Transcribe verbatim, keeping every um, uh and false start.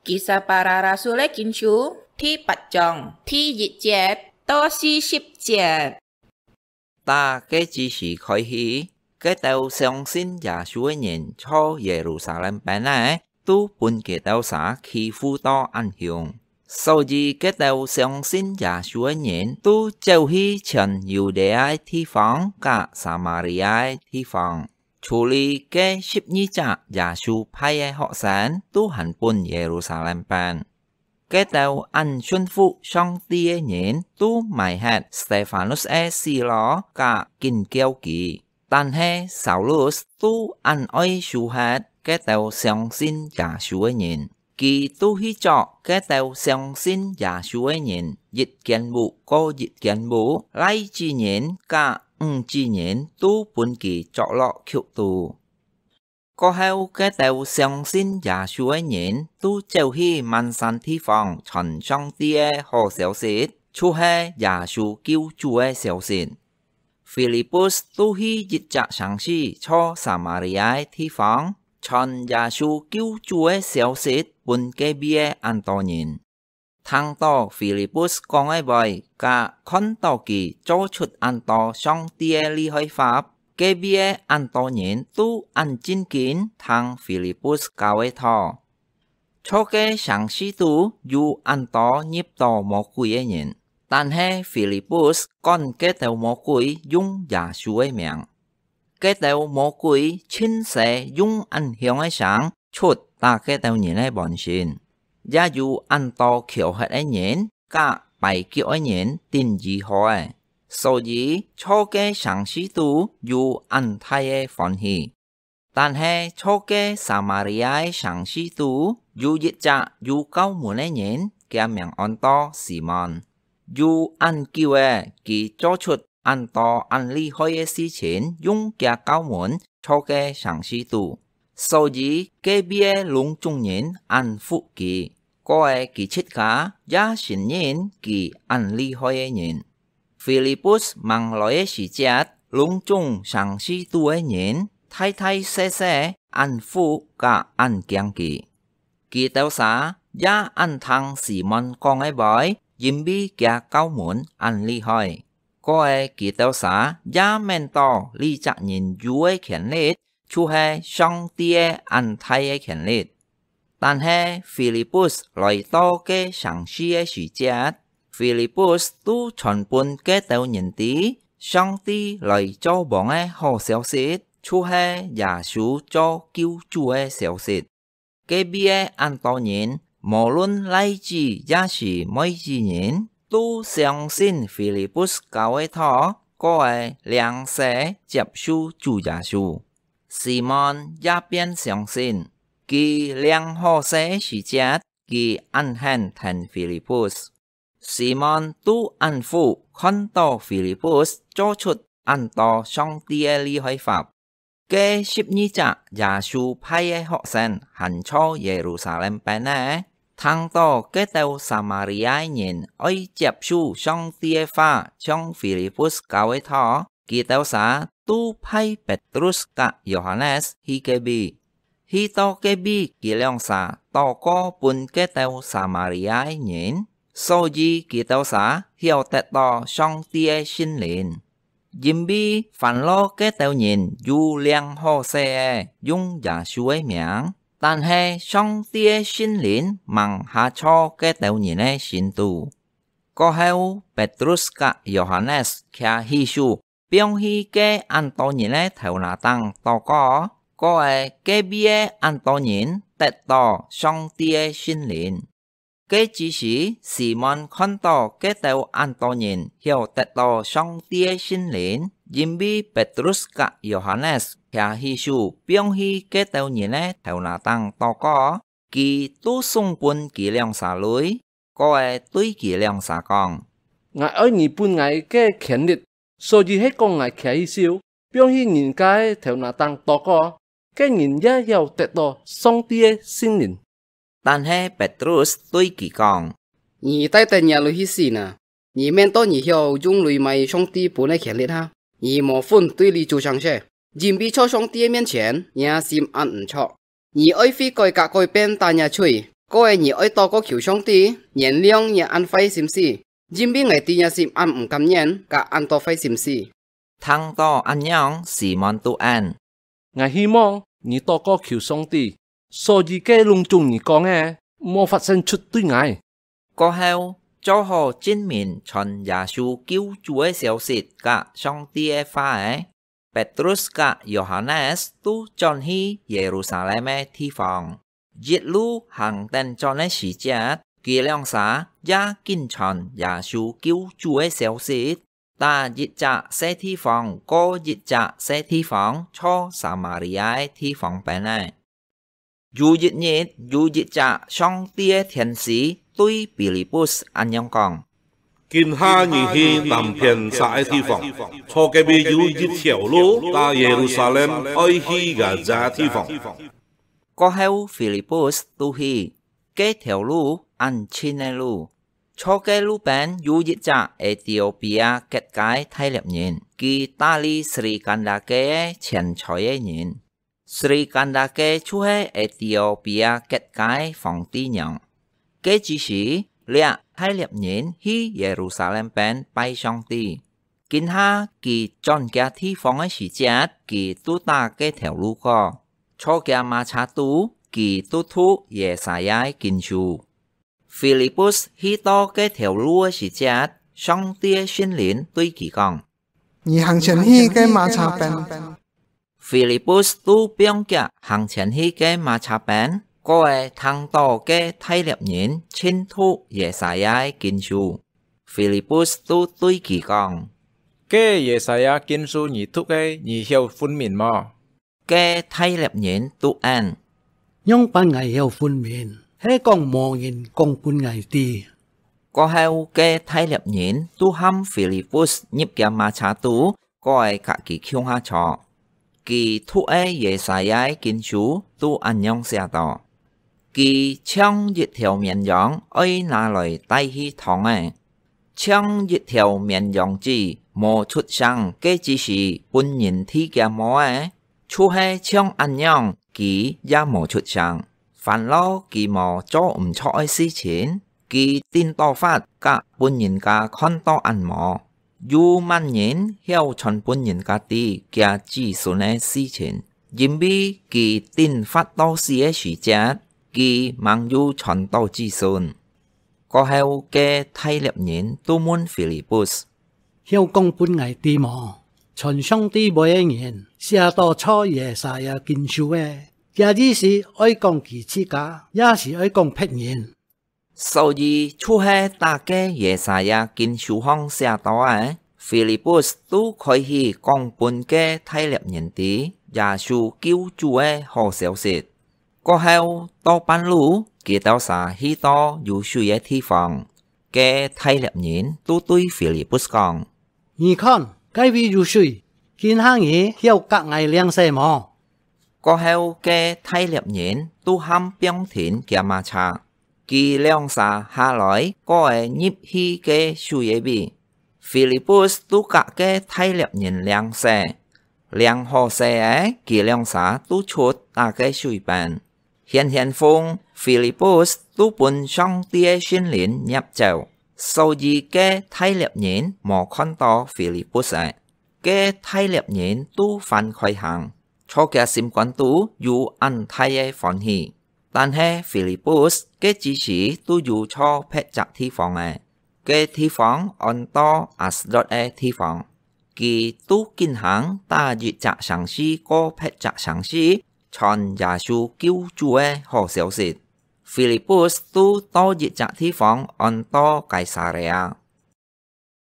Kisah Para Rasul-é Kinsú第八章第一節到四十節。打該之時開始，該兜相信耶穌个人在耶路撒冷邊仔，都分佢兜儕欺負到恁凶。所以該兜相信耶穌个人都走去全猶太个地方佮撒瑪利亞个地方。 除了該十二隻耶穌派个學生都還分耶路撒冷邊。該兜恁順服上帝个人都埋忒Stefanus个死囉佮緊噭佢，但係Saulus都恁愛收忒該兜相信耶穌个人。 佢都去鑿該兜相信耶穌个人一間屋過一間屋，倈子人佮女子人都分佢鑿落曲肚。過後，該兜相信耶穌个人都走去滿山地方傳上帝个好消息，就係耶穌救主个消息。 Filipus都去一隻城市在撒瑪利亞个地方，傳耶穌救主个消息分該位个恁多人。聽到Filipus講个話，佮看到佢做出恁多上帝个厲害法，該位个恁多人都恁震驚聽Filipus教个道。 在該城市肚有恁多入到魔鬼个人，但係Filipus趕該兜魔鬼用耶穌个名。該兜魔鬼盡勢用恁響个聲捽打該兜人个半身，也有恁多翹核个人佮跛腳个人得醫好了。所以，在該城市肚有恁大个歡喜。 但係在該撒瑪利亞个城市肚，有一隻有酵門个人，厥名安到Simon。有恁久了，佢做出恁多恁厲害个事情，用厥酵門在該城市肚。所以，該位个攏總人恁服佢，過了佢自家也承認佢恁厲害个人。 Filipus吂來个時節，攏總城市肚个人大大細細恁服佮恁驚佢。佢兜儕也恁聽Simon講个話，因為厥酵門恁厲害。過了佢兜儕也愐到這隻人有个權力，就係上帝个恁大个權力。 但係Filipus來到該城市个時節，Filipus都傳分該兜人知，上帝來做王个好消息，就係耶穌做救主个消息。該位个恁多人，無論倈子也係妹子人，都相信Filipus教个道，過了領洗接受主耶穌。Simon也變相信， 佢領好洗个時節，佢恁肯跈Filipus。Simon都恁服看到Filipus做出恁多上帝个厲害法。該十二隻耶穌派个學生還在耶路撒冷邊仔，聽到該兜撒瑪利亞人愛接受上帝个話，像Filipus教个道，佢兜儕都派Petrus佮Yohanes去該位。 去到該位，佢兩儕禱告分該兜撒瑪利亞个人，所以佢兜儕曉得到上帝个聖靈。因為番落該兜人有領好洗个，用耶穌个名，但係上帝个聖靈吂下在該兜人个心肚。過後，Petrus佮Yohanes擎起手， 放去該恁多人个頭那頂禱告，過了該位个恁多人得到上帝个聖靈。該之時，Simon看到該兜恁多人曉得到上帝个聖靈，因為Petrus佮Yohanes擎起手放去該兜人个頭那頂禱告，佢都送分佢兩儕鐳，過了對佢兩儕講：「𠊎愛你分𠊎个權力， 所以係講𠊎擎起手，放去人家个頭那頂禱告，該人也曉得到上帝个聖靈。」但係Petrus對佢講：「你帶等若鐳去死哪！你愐到你曉用鐳買上帝分个權力哈？你無份對這做成事，因為在上帝个面前，若心恁毋著。你愛悔改佮改變打若罪，「過後你愛禱告求上帝，原諒你恁壞心思，因為𠊎知若心恁毋甘願，甲恁多壞心思。」聽到恁樣，Simon都應：「𠊎希望你禱告求上帝，所以該攏總你講个，莫發生出對𠊎。」過後，做好證明傳耶穌救主个消息甲上帝个話个，Petrus甲Yohanes都轉去耶路撒冷个地方。一路行等轉个時節，佢兩儕也緊傳耶穌救主个消息， 打一隻細地方過一隻細地方，到撒瑪利亞个地方邊仔。有一日，有一隻上帝个天使對Filipus恁樣講：「今下你去南片儕个地方，坐該位有一條路，打耶路撒冷愛去該隻地方。」 過後，Filipus都去，該條路恁近个路。坐該路邊有一隻Ethiopia國家个大獵人，佢打理Sri Kandake个錢財个人。Sri Kandake就係Ethiopia國家个皇帝娘。該之時，這大獵人去耶路撒冷邊拜上帝。 今下佢轉厥地方个時節，佢都打該條路過。坐厥馬車肚，佢都讀Yesaya个經書。Filipus去到該條路个時節，上帝个聖靈對佢講：「你行前去該馬車邊。」 Filipus都放厥行前去該馬車邊，過後聽到該大獵人盡讀Yesaya个經書。Filipus都對佢講：「該Yesaya經書你讀个，你曉分明無？」該大獵人都應：「仰般𠊎曉分明？係講無人講分𠊎知。」過後，該大獵人都喊Filipus入厥馬車肚，過後甲佢共下坐。佢讀个Yesaya个經書都恁樣寫到：「佢像一條綿羊，愛拿來帶去湯个，像一條綿羊子，無出聲，該之時分人提厥毛仔，就係像恁樣，佢也無出聲。」 煩惱佢無做毋著个事情，佢頂多發甲分人家看到恁無。有麼人曉傳分人家知厥子孫个事情，因為佢頂發到死个時節，佢吂有傳到子孫。過後，該大獵人都問Filipus： 「曉講分𠊎知無？傳上帝話个人寫到著Yesaya經書个，厥意思愛講佢自家，也係愛講別人？」所以，就係打該Yesaya經書項寫到个，Filipus都開始講分該大獵人知耶穌救主个好消息。 過後，到半路，佢兜儕去到有水个地方，該大獵人都對Filipus講：「你看，該位有水，今下你曉甲𠊎領洗無？」過後，該大獵人都喊放停厥馬車，佢兩儕下來，過仔入去該水个位。 Filipus都甲該大獵人領洗，領好洗仔，佢兩儕都出打該水邊。顯顯風，Filipus都分上帝个聖靈捏走，所以該大獵人無看到Filipus仔。該大獵人都還開行，著厥心肝肚有恁大个歡喜。 但係Filipus該之時都有坐別隻地方仔，該地方安到Asdod个地方。佢都緊行打一隻城市過別隻城市，傳耶穌救主个好消息。Filipus都到一隻地方安到該撒利亞，